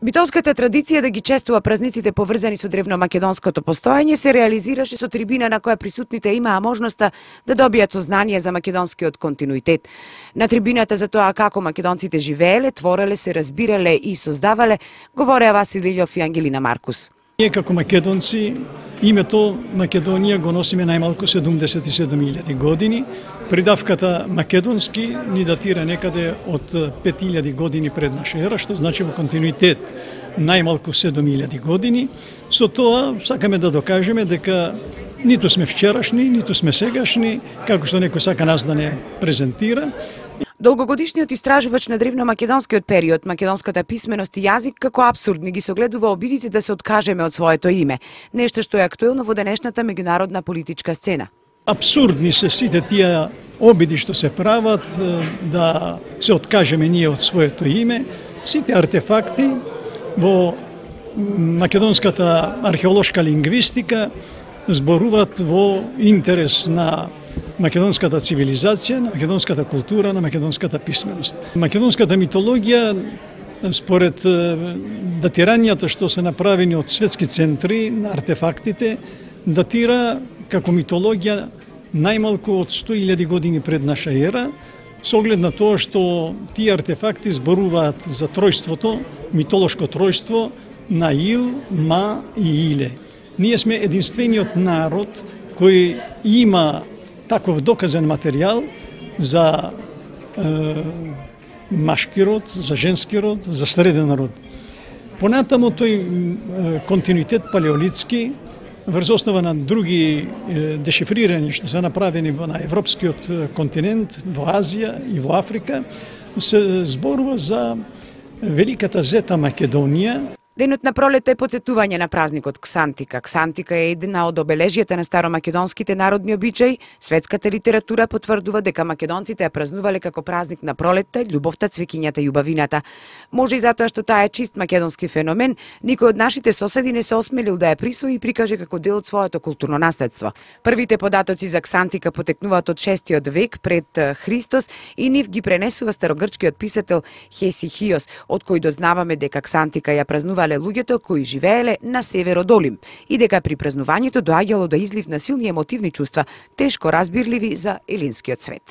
Битолската традиција да ги честува празниците поврзани со древномакедонското постоење се реализираше со трибина на која присутните имаа можноста да добијат сознание за македонскиот континуитет. На трибината за тоа како македонците живееле, твореле, се разбирале и создавале, говореа Васил Илјов и Ангелина Маркус. Ние како македонци името Македонија го носиме најмалку 77.000 години. Придавката македонски ни датира некаде од 5.000 години пред наша ера, што значи во континуитет најмалку 7.000 години. Со тоа сакаме да докажеме дека ниту сме вчерашни, ниту сме сегашни, како што некој сака нас да не презентира. Долгогодишниот истражувач на древномакедонскиот период, македонската писменост и јазик како апсурдни ги согледува обидите да се откажеме од своето име, нешто што е актуелно во денешната меѓународна политичка сцена. Апсурдни се сите тие обиди што се прават да се откажеме ние од своето име. Сите артефакти во македонската археолошка лингвистика зборуваат во интерес на македонската цивилизација, на македонската култура, на македонската писменост. Македонската митологија, според датирањата што се направени од светски центри на артефактите, датира како митологија најмалку од 100.000 години пред наша ера, со оглед на тоа што тие артефакти зборуваат за тројството, митолошко тројство на Ил, Ма и Иле. Ние сме единствениот народ кој има таков доказен материјал за машки род, за женски род, за среден род. Понатамо тој континуитет палеолитски, врз основа на други дешифрирања што се направени на европскиот континент, во Азија и во Африка, се зборува за великата зета Македонија. Денот на пролета е потсетување на празникот Ксантика. Ксантика е една од обележјата на старомакедонските народни обичаи. Светската литература потврдува дека македонците ја празнувале како празник на пролетта, љубовта, цвеќињата и убавината. Може и затоа што таа е чист македонски феномен, никој од нашите соседи не се осмелил да ја присвои и прикаже како дел од своето културно наследство. Првите податоци за Ксантика потекнуваат од 6 век пред Христос и нив ги пренесува старогрчкиот писател Хесихиос, од кој дознаваме дека Ксантика ја празнува луѓето кои живееле на север од Олимп и дека при празнувањето доаѓало до излив на силни емотивни чувства, тешко разбирливи за елинскиот свет.